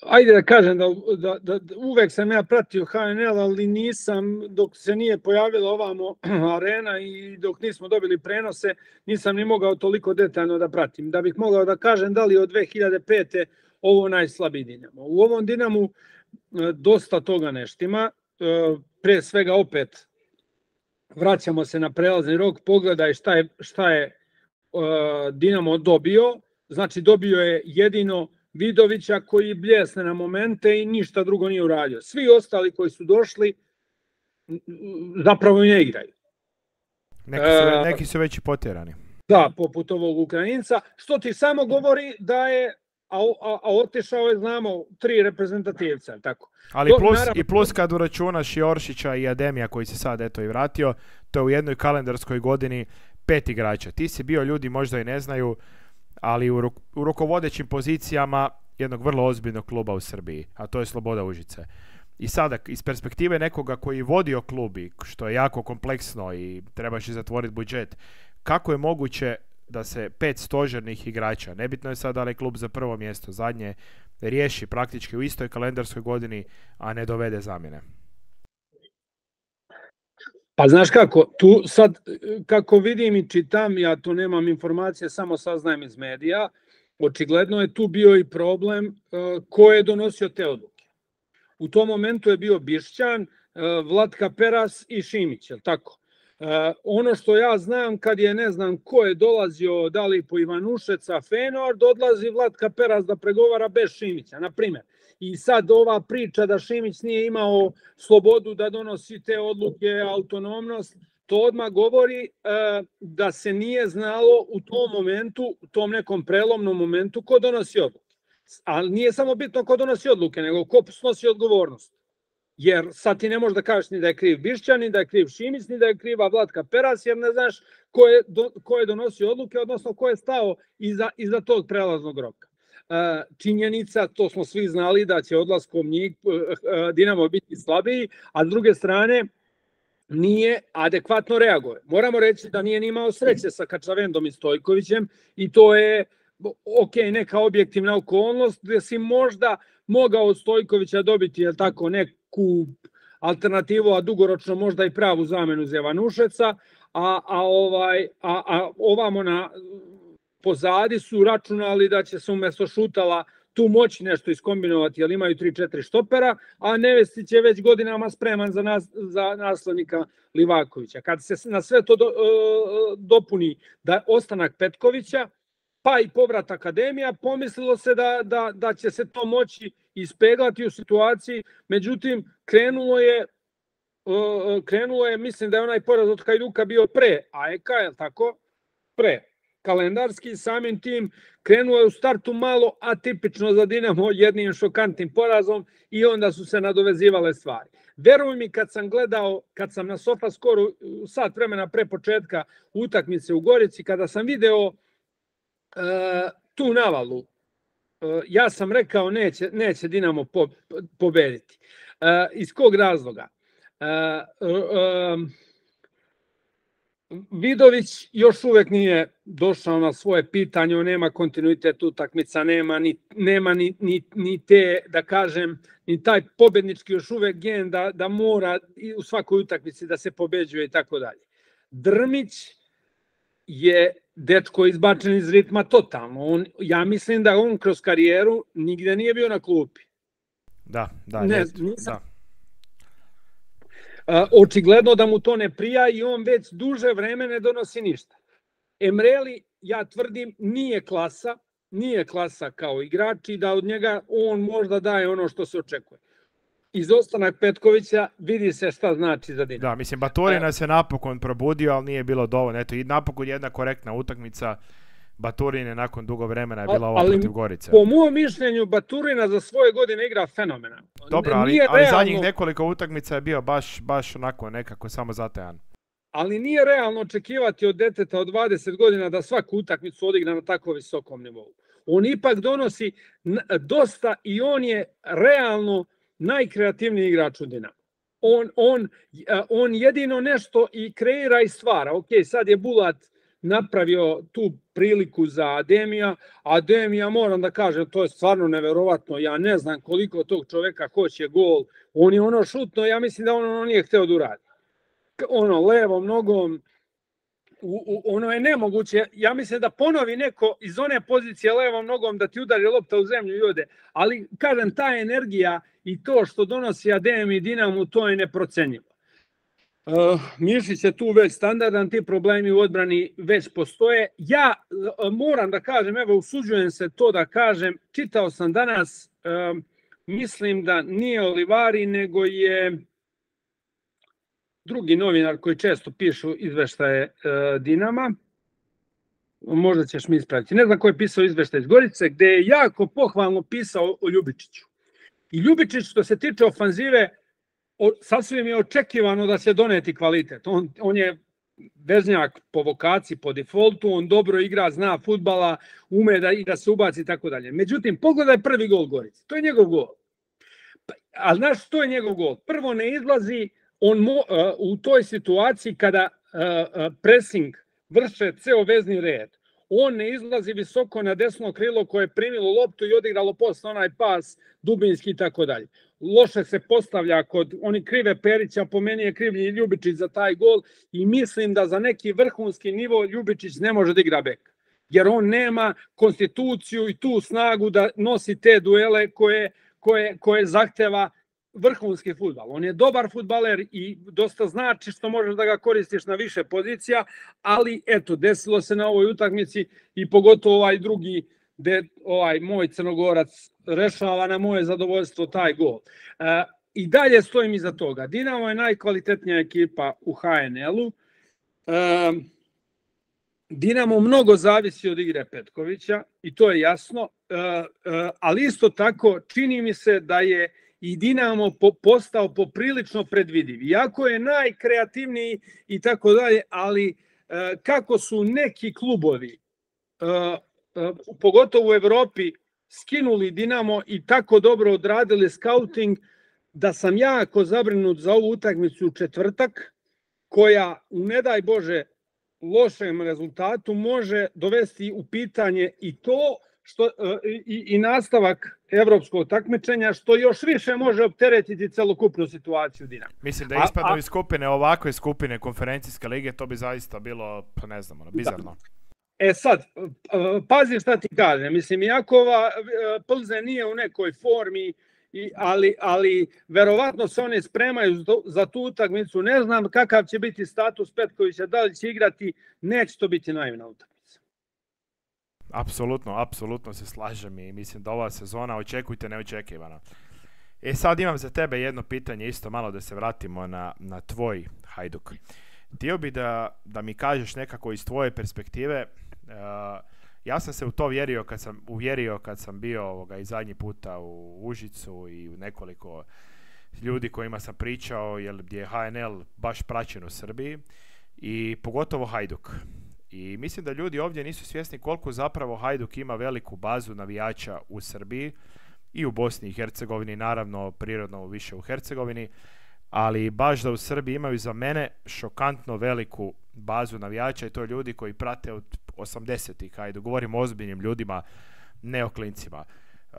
[SPEAKER 2] Ajde da kažem da, da, da uvek sam ja pratio H N L, ali nisam, dok se nije pojavila ovamo arena i dok nismo dobili prenose, nisam ni mogao toliko detaljno da pratim. Da bih mogao da kažem da li od dve hiljade pete. ovo najslabiji Dinamo. U ovom Dinamu dosta toga ne štima. Pre svega opet vraćamo se na prelazni rok, pogledaj šta je, šta je Dinamo dobio. Znači dobio je jedino Vidovića koji bljesne na momente i ništa drugo nije uradio. Svi ostali koji su došli zapravo ne igraju.
[SPEAKER 1] Neki su, neki su već i potjerani.
[SPEAKER 2] Da, poput ovog Ukrajinca, što ti samo govori da je, a, a, a otišao je, znamo, tri reprezentativca, tako.
[SPEAKER 1] Ali to, plus, naravno, i plus kad uračunaš i Oršića i Ademija koji se sad eto i vratio, to je u jednoj kalendarskoj godini pet igrača. Ti si bio, ljudi možda i ne znaju, ali u, u rukovodećim pozicijama jednog vrlo ozbiljnog kluba u Srbiji, a to je Sloboda Užice. I sada, iz perspektive nekoga koji vodio klub, što je jako kompleksno i trebaš i zatvoriti budžet, kako je moguće da se pet stožernih igrača, nebitno je sad da li je klub za prvo mjesto, zadnje, riješi praktički u istoj kalendarskoj godini, a ne dovede zamjene?
[SPEAKER 2] Pa znaš kako, tu sad, kako vidim i čitam, ja tu nemam informacije, samo saznajem iz medija, očigledno je tu bio i problem uh, ko je donosio te odluke. U tom momentu je bio Bišćan, uh, Vlatka Peras i Šimić, je li tako? Uh, ono što ja znam, kad je ne znam ko je dolazio, da li po Ivanušeca, Fenord, odlazi Vlatka Peras da pregovara bez Šimića, na primjer. I sad ova priča da Šimić nije imao slobodu da donosi te odluke, autonomnost, to odmah govori uh, da se nije znalo u tom momentu, u tom nekom prelomnom momentu ko donosi odluke. Ali nije samo bitno ko donosi odluke, nego ko snosi odgovornost. Jer sad ti ne možeš da kažeš ni da je kriv Bišćan, ni da je kriv Šimić, ni da je kriva Vlatka Peras, jer ne znaš ko je, do, ko je donosio odluke, odnosno ko je stao iza, iza tog prelaznog roka. Činjenica, to smo svi znali da će odlaskom njih Dinamo biti slabiji, a s druge strane nije adekvatno reaguje. Moramo reći da nije ni imao sreće sa Kačavendom i Stojkovićem i to je ok, neka objektivna okolnost gdje si možda mogao od Stojkovića dobiti jel tako, neku alternativu, a dugoročno možda i pravu zamenu za Ivanušeca, a, a, ovaj, a, a ovamo na pozadi su računali da će se umjesto Šutala tu moći nešto iskombinovati, jer imaju tri četiri štopera, a Nevestić je već godinama spreman za, nas, za naslednika Livakovića. Kad se na sve to do, uh, dopuni da ostanak Petkovića, pa i povrat Akademija, pomislilo se da, da, da će se to moći ispeglati u situaciji, međutim krenulo je, uh, krenulo je, mislim da je onaj poraz od Hajduka bio pre A E K, je li tako? Pre. kalendarski, samim tim krenuo je u startu malo atipično za Dinamo jednim šokantnim porazom i onda su se nadovezivale stvari. Veruj mi, kad sam gledao, kad sam na Sofaskoru sat vremena pre početka utakmice u Gorici, kada sam video uh, tu navalu, uh, ja sam rekao neće, neće Dinamo po, pobediti. Uh, iz kog razloga? Uh, uh, Vidović još uvek nije došao na svoje pitanje, on nema kontinuitet utakmica, nema ni, nema ni, ni, ni te, da kažem, ni taj pobednički još uvek gen da, da mora u svakoj utakmici da se pobeđuje i tako dalje. Drmić je dečko izbačen iz ritma totalno. On, ja mislim da on kroz karijeru nigde nije bio na klupi.
[SPEAKER 1] Da, da,
[SPEAKER 2] ne,
[SPEAKER 1] jest,
[SPEAKER 2] nisam,
[SPEAKER 1] da.
[SPEAKER 2] Očigledno da mu to ne prija i on već duže vreme ne donosi ništa. Emreli, ja tvrdim, nije klasa, nije klasa kao igrač i da od njega on možda daje ono što se očekuje. Izostanak Petkovića vidi se šta znači za Dinamo.
[SPEAKER 1] Da, mislim, Baturina se napokon probudio, ali nije bilo dovoljno. Eto, i napokon jedna korektna utakmica. Baturine nakon dugo vremena je bila ova protiv Gorice.
[SPEAKER 2] Po mojom mišljenju Baturina za svoje godine igra fenomenalno.
[SPEAKER 1] Dobro, ali, ali zadnjih nekoliko utakmica je bio baš, baš onako nekako samo zatajan.
[SPEAKER 2] Ali nije realno očekivati od deteta od dvadeset godina da svaku utakmicu odigra na tako visokom nivou. On ipak donosi dosta i on je realno najkreativniji igrač u Dinamu. On, on, on jedino nešto i kreira i stvara. Ok, sad je Bulat napravio tu priliku za Ademija. Ademija, moram da kažem, to je stvarno neverovatno. Ja ne znam koliko tog čoveka hoće gol. On je ono šutno, ja mislim da on ono nije hteo da uradi. Ono, levom nogom, u, u, ono je nemoguće. Ja mislim da ponovi neko iz one pozicije levom nogom da ti udari lopta u zemlju i ode. Ali, kažem, ta energija i to što donosi Adem i Dinamu, to je neprocenjivo. Uh, Mišić je tu već standardan, ti problemi u odbrani već postoje. Ja uh, moram da kažem, evo usuđujem se to da kažem, čitao sam danas, uh, mislim da nije Olivari, nego je drugi novinar koji često pišu izveštaje uh, Dinama, možda ćeš mi ispraviti, ne znam ko je pisao izveštaj iz Gorice, gde je jako pohvalno pisao o Ljubičiću. I Ljubičić, što se tiče ofanzive, sasvim je očekivano da će doneti kvalitet. On, on je veznjak po vokaciji, po defaultu, on dobro igra, zna fudbala, ume da, i da se ubaci i tako dalje. Međutim, pogledaj prvi gol Gorice. To je njegov gol. A znaš što je njegov gol? Prvo ne izlazi on mo, uh, u toj situaciji kada uh, uh, pressing vrše ceo vezni red. On ne izlazi visoko na desno krilo koje je primilo loptu i odigralo posle onaj pas dubinski i tako dalje. Loše se postavlja kod oni krive Perića, po meni je krivlji Ljubičić za taj gol i mislim da za neki vrhunski nivo Ljubičić ne može da igra bek. Jer on nema konstituciju i tu snagu da nosi te duele koje, koje, koje zahteva vrhunski fudbal. On je dobar fudbaler i dosta znači što možeš da ga koristiš na više pozicija, ali eto, desilo se na ovoj utakmici i pogotovo ovaj drugi gde ovaj moj Crnogorac rešava na moje zadovoljstvo taj gol. E, I dalje stojim iza toga. Dinamo je najkvalitetnija ekipa u ha en el-u. E, Dinamo mnogo zavisi od igre Petkovića i to je jasno, e, e, ali isto tako čini mi se da je i Dinamo po, postao poprilično predvidiv. Iako je najkreativniji i tako dalje, ali e, kako su neki klubovi, e, pogotovo u Evropi, skinuli Dinamo i tako dobro odradili scouting, da sam jako zabrinut za ovu utakmicu u četvrtak, koja u ne daj Bože lošem rezultatu može dovesti u pitanje i to što, i, i nastavak evropskog takmičenja, što još više može opteretiti celokupnu situaciju Dinama.
[SPEAKER 1] Mislim da ispadnu iz skupine, ovakve skupine konferencijske lige, to bi zaista bilo, pa ne znam, bizarno.
[SPEAKER 2] E sad, pazi šta ti kaže, mislim, iako ova Plze nije u nekoj formi, ali, ali verovatno se one spremaju za tu utakmicu, ne znam kakav će biti status Petkovića, da li će igrati, neće to biti naivna utakmica.
[SPEAKER 1] Apsolutno, apsolutno se slažem i mislim da ova sezona očekujte neočekivano. E sad imam za tebe jedno pitanje, isto malo da se vratimo na, na tvoj Hajduk. Htio bi da, da mi kažeš nekako iz tvoje perspektive Ja sam se u to vjerio kad sam, uvjerio kad sam bio ovoga, i zadnji puta u Užicu i u nekoliko ljudi kojima sam pričao, jer gdje je H N L baš praćen u Srbiji i pogotovo Hajduk. I mislim da ljudi ovdje nisu svjesni koliko zapravo Hajduk ima veliku bazu navijača u Srbiji i u Bosni i Hercegovini, naravno prirodno više u Hercegovini, ali baš da u Srbiji imaju za mene šokantno veliku bazu navijača i to ljudi koji prate od osamdesetih, ajde, govorimo o ozbiljnim ljudima, ne o klincima. Uh,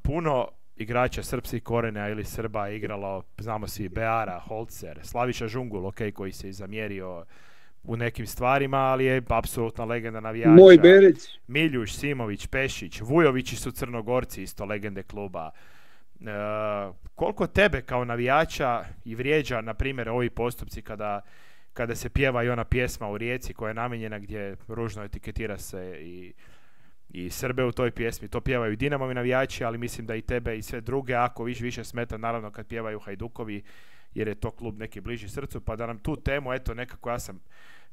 [SPEAKER 1] puno igrača srpskih korenja ili Srba je igralo, znamo svi, Beara, Holzer, Slaviša Žungul, ok, koji se i zamjerio u nekim stvarima, ali je apsolutna legenda navijača.
[SPEAKER 2] Moj Berić.
[SPEAKER 1] Miljuš, Simović, Pešić, Vujovići su Crnogorci, isto legende kluba. Uh, koliko tebe kao navijača i vrijeđa, na primjer, ovi postupci kada, kada se pjeva i ona pjesma u Rijeci koja je namijenjena gdje ružno etiketira se i, i Srbe u toj pjesmi, to pjevaju i Dinamovi navijači, ali mislim da i tebe i sve druge, ako viš više smeta naravno kad pjevaju Hajdukovi, jer je to klub neki bliži srcu, pa da nam tu temu, eto nekako ja sam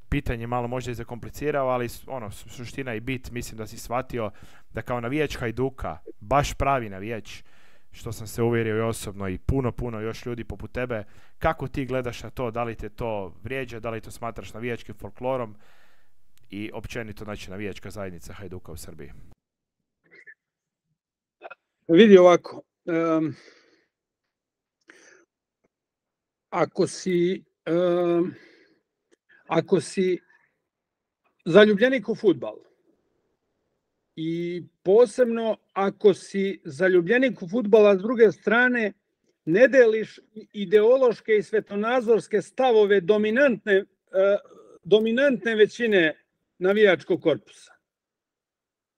[SPEAKER 1] pitanje malo možda i zakomplicirao, ali ono, suština i bit, mislim da si shvatio da kao navijač Hajduka, baš pravi navijač, što sam se uvjerio i osobno i puno, puno još ljudi poput tebe, kako ti gledaš na to, da li te to vrijeđa, da li to smatraš navijačkim folklorom i općenito, znači, navijačka zajednica Hajduka u Srbiji?
[SPEAKER 2] Vidi ovako, um, ako si um, ako si zaljubljenik u fudbal i posebno ako si zaljubljenik u fudbala, s druge strane ne deliš ideološke i svetonazorske stavove dominantne, uh, dominantne većine navijačkog korpusa.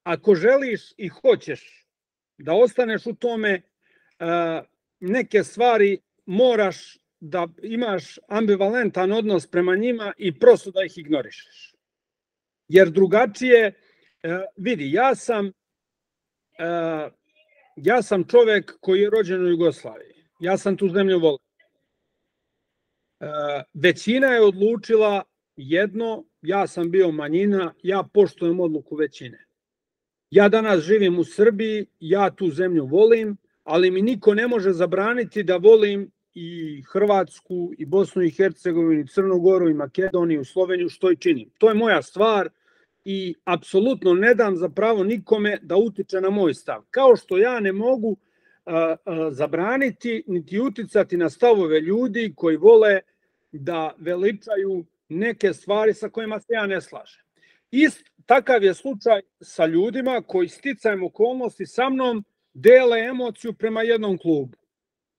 [SPEAKER 2] Ako želiš i hoćeš da ostaneš u tome, uh, neke stvari moraš da imaš ambivalentan odnos prema njima i prosto da ih ignorišeš. Jer drugačije, vidi, ja sam, ja sam čovjek koji je rođen u Jugoslaviji. Ja sam tu zemlju volio. Većina je odlučila jedno, ja sam bio manjina, ja poštujem odluku većine. Ja danas živim u Srbiji, ja tu zemlju volim, ali mi niko ne može zabraniti da volim i Hrvatsku, i Bosnu i Hercegovinu, i Crnu Goru, i Makedoniju, i Sloveniju, što i činim. To je moja stvar i apsolutno ne dam za pravo nikome da utiče na moj stav. Kao što ja ne mogu a, a, zabraniti niti uticati na stavove ljudi koji vole da veličaju neke stvari sa kojima se ja ne slažem. Ist, takav je slučaj sa ljudima koji sticajem okolnosti sa mnom dele emociju prema jednom klubu.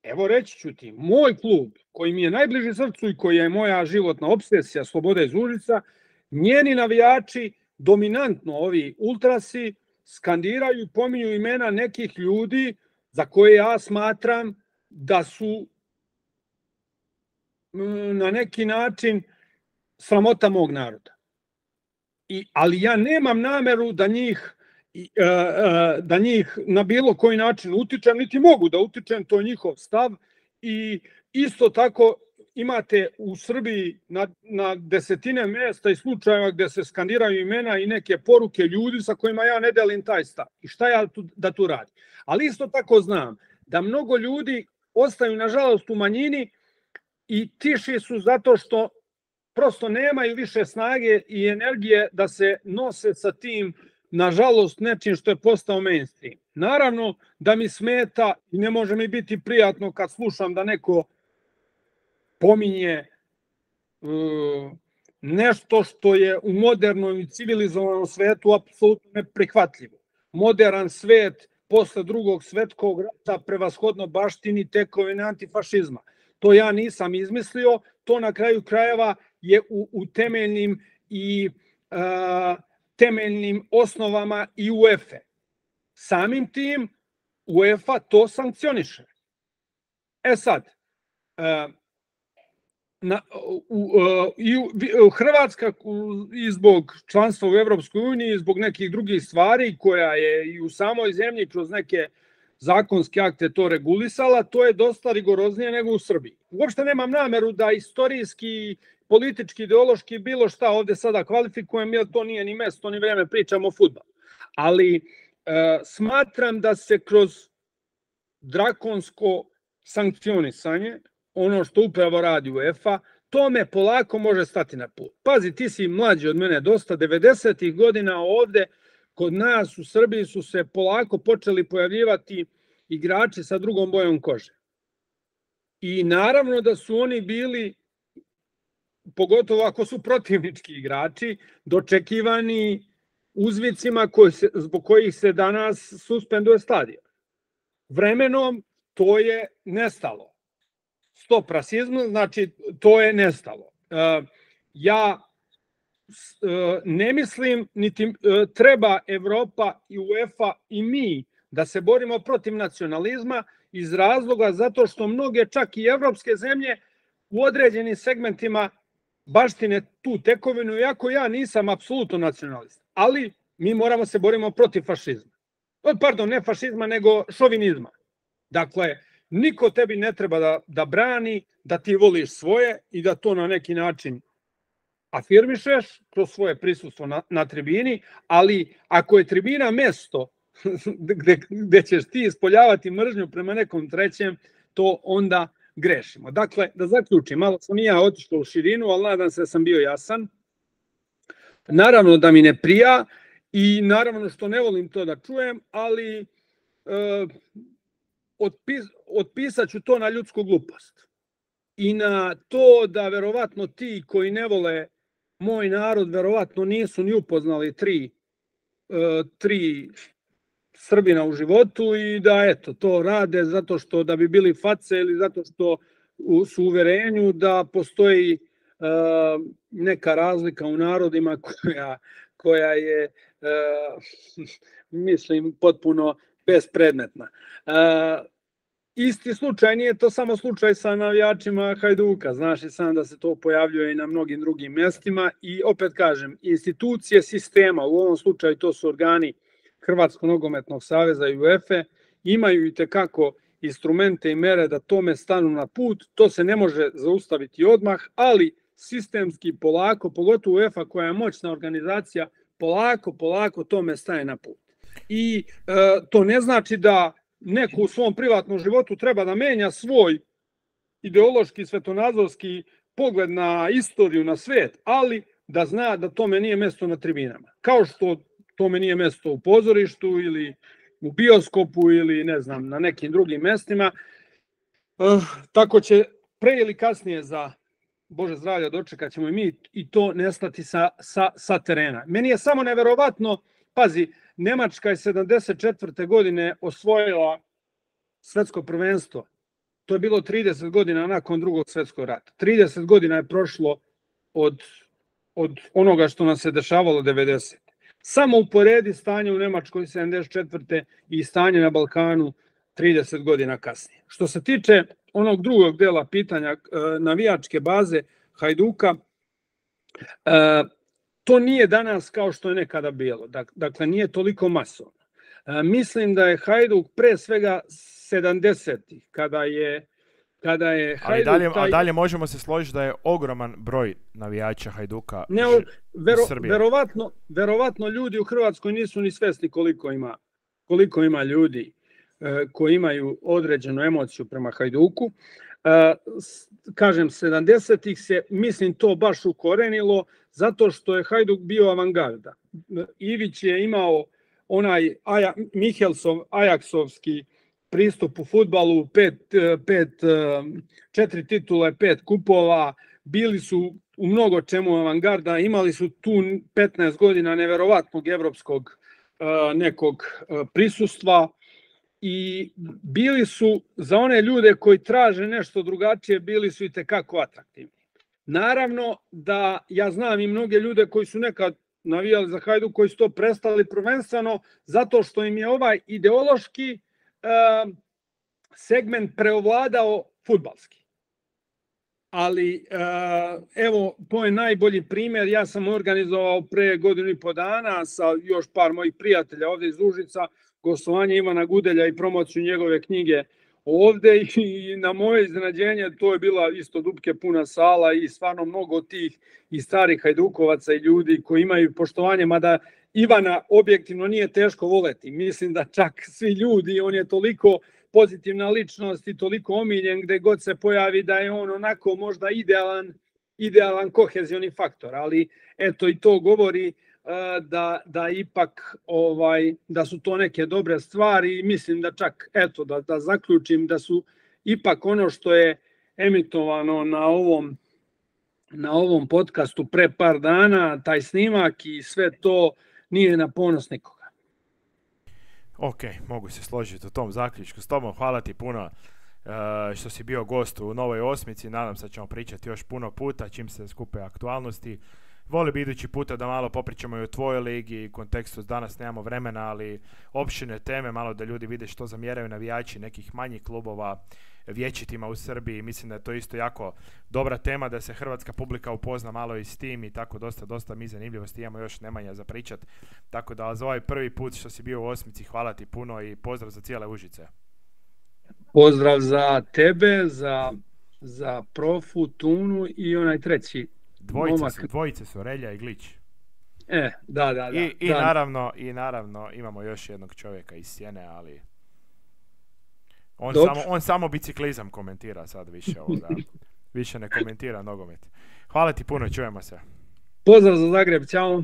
[SPEAKER 2] Evo reći ću ti, moj klub koji mi je najbliži srcu i koji je moja životna obsesija, Sloboda iz Užica, njeni navijači, dominantno ovi ultrasi, skandiraju i pominju imena nekih ljudi za koje ja smatram da su na neki način sramota mog naroda. I, ali ja nemam nameru da njih da njih na bilo koji način utičem, niti mogu da utičem, to je njihov stav. I isto tako imate u Srbiji na, na desetine mjesta i slučajeva gdje se skandiraju imena i neke poruke ljudi sa kojima ja ne delim taj stav. I šta ja tu, da tu radim? Ali isto tako znam da mnogo ljudi ostaju nažalost u manjini i tiši su zato što prosto nemaju više snage i energije da se nose sa tim, nažalost, nečim što je postao mainstream. Naravno da mi smeta i ne može mi biti prijatno kad slušam da neko pominje uh, nešto što je u modernom i civilizovanom svetu apsolutno neprihvatljivo. Modern svet posle drugog svetskog rata prevashodno baštini tekovine antifašizma. To ja nisam izmislio, to na kraju krajeva je u, u temeljnim i uh, temeljnim osnovama i UEFA. Samim tim UEFA to sankcioniše. E sad, uh, na, u, uh, i u, Hrvatska i zbog članstva u Evropskoj uniji, zbog nekih drugih stvari koja je i u samoj zemlji kroz neke zakonski akt je to regulisala, to je dosta rigoroznije nego u Srbiji. Uopšte nemam nameru da istorijski, politički, ideološki bilo šta ovde sada kvalifikujem, jer to nije ni mesto, ni vreme, pričamo o fudbalu. Ali e, smatram da se kroz drakonsko sankcionisanje, ono što upravo radi UEFA, tome polako može stati na put. Pazi, ti si mlađi od mene dosta, devedesetih godina ovde kod nas u Srbiji su se polako počeli pojavljivati igrači sa drugom bojom kože. I naravno da su oni bili, pogotovo ako su protivnički igrači, dočekivani uzvicima koji se, zbog kojih se danas suspenduje stadion. Vremenom to je nestalo. Stop rasizmu, znači to je nestalo. Ja ne mislim, niti treba Evropa i UEFA i mi da se borimo protiv nacionalizma iz razloga zato što mnoge čak i evropske zemlje u određenim segmentima baštine tu tekovinu, iako ja nisam apsolutno nacionalist. Ali mi moramo se borimo protiv fašizma. Pardon, ne fašizma, nego šovinizma. Dakle, niko tebi ne treba da, da brani, da ti voliš svoje i da to na neki način afirmišeš kroz svoje prisustvo na, na tribini, ali ako je tribina mesto gde, gde ćeš ti ispoljavati mržnju prema nekom trećem, to onda grešimo. Dakle, da zaključim, malo sam i ja otišao u širinu, ali nadam se da sam bio jasan. Naravno da mi ne prija i naravno što ne volim to da čujem, ali e, otpis, otpisat ću to na ljudsku glupost. I na to da verovatno ti koji ne vole moj narod verovatno nisu ni upoznali tri, e, tri Srbina u životu i da eto to rade zato što da bi bili face ili zato što su u uverenju da postoji e, neka razlika u narodima koja, koja je e, mislim potpuno bespredmetna. E, Isti slučaj, nije to samo slučaj sa navijačima Hajduka, znaš i sam da se to pojavljuje i na mnogim drugim mjestima i opet kažem, institucije sistema, u ovom slučaju to su organi Hrvatskog nogometnog saveza i UEFA, imaju i tekako instrumente i mere da tome stanu na put, to se ne može zaustaviti odmah, ali sistemski polako, pogotovo UEFA koja je moćna organizacija, polako, polako tome staje na put. I e, to ne znači da neko u svom privatnom životu treba da menja svoj ideološki, svetonazorski pogled na istoriju, na svet, ali da zna da tome nije mesto na tribinama. Kao što tome nije mesto u pozorištu ili u bioskopu ili ne znam, na nekim drugim mestima. Uh, tako će pre ili kasnije za Bože zdravlja dočekat ćemo i mi i to nestati sa, sa, sa terena. Meni je samo neverovatno, pazi, Nemačka je sedamdeset četvrte godine osvojila svetsko prvenstvo. To je bilo trideset godina nakon drugog svetskog rata. trideset godina je prošlo od, od onoga što nam se dešavalo devedesete. Samo uporedi stanje u Nemačkoj sedamdeset četvrte i stanje na Balkanu trideset godina kasnije. Što se tiče onog drugog dela pitanja navijačke baze Hajduka, to nije danas kao što je nekada bilo. Dakle, nije toliko masovno. Mislim da je Hajduk pre svega sedamdesetih, kada je kada je Hajduk...
[SPEAKER 1] Ali dalje, taj... A dalje možemo se složiti da je ogroman broj navijača Hajduka
[SPEAKER 2] ne, vero, verovatno, verovatno ljudi u Hrvatskoj nisu ni svesni koliko ima, koliko ima ljudi e, koji imaju određenu emociju prema Hajduku. E, kažem, sedamdesetih se, mislim, to baš ukorenilo, zato što je Hajduk bio avangarda. Ivić je imao onaj Aja, Mihelsov, Ajaksovski pristup u fudbalu, pet, pet, četiri titule, pet kupova, bili su u mnogo čemu avangarda, imali su tu petnaest godina neverovatnog evropskog nekog prisustva i bili su za one ljude koji traže nešto drugačije, bili su i tekako atraktivni. Naravno da ja znam i mnoge ljude koji su nekad navijali za Hajduk, koji su to prestali prvenstveno zato što im je ovaj ideološki segment preovladao fudbalski. Ali evo, to je najbolji primjer. Ja sam organizovao pre godinu i po dana sa još par mojih prijatelja ovdje iz Užica gostovanje Ivana Gudelja i promociju njegove knjige ovde i na moje iznenađenje to je bila isto dupke puna sala i stvarno mnogo tih i starih hajdukovaca i ljudi koji imaju poštovanje, mada Ivana objektivno nije teško voleti. Mislim da čak svi ljudi, on je toliko pozitivna ličnost i toliko omiljen gde god se pojavi da je on onako možda idealan, idealan kohezioni faktor, ali eto i to govori da, da ipak ovaj, da su to neke dobre stvari i mislim da čak, eto da, da zaključim da su ipak ono što je emitovano na ovom na ovom podcastu pre par dana, taj snimak i sve to nije na ponos nikoga.
[SPEAKER 1] Ok, mogu se složiti u tom zaključku s tobom. Hvala ti puno uh, što si bio gost u Novoj osmici. Nadam se da ćemo pričati još puno puta čim se skupe aktualnosti. Volio bi idući puta da malo popričamo i o tvojoj ligi i kontekstu, danas nemamo vremena, ali opširne teme, malo da ljudi vide što zamjeraju navijači nekih manjih klubova vječitima u Srbiji. Mislim da je to isto jako dobra tema, da se hrvatska publika upozna malo i s tim i tako dosta, dosta mi zanimljivosti imamo još Nemanja za pričat. Tako da za ovaj prvi put što si bio u osmici, hvala ti puno i pozdrav za cijele Užice.
[SPEAKER 2] Pozdrav za tebe, za, za Profu, Tunu i onaj treći.
[SPEAKER 1] Dvojice su, dvojice su, Relja i Glić.
[SPEAKER 2] E, da, da, da.
[SPEAKER 1] I, i,
[SPEAKER 2] da.
[SPEAKER 1] Naravno, I naravno imamo još jednog čovjeka iz Sjene, ali on samo, on samo biciklizam komentira sad više ovoga. Više ne komentira nogomet. Hvala ti puno, čujemo se.
[SPEAKER 2] Pozdrav za Zagreb, ćao.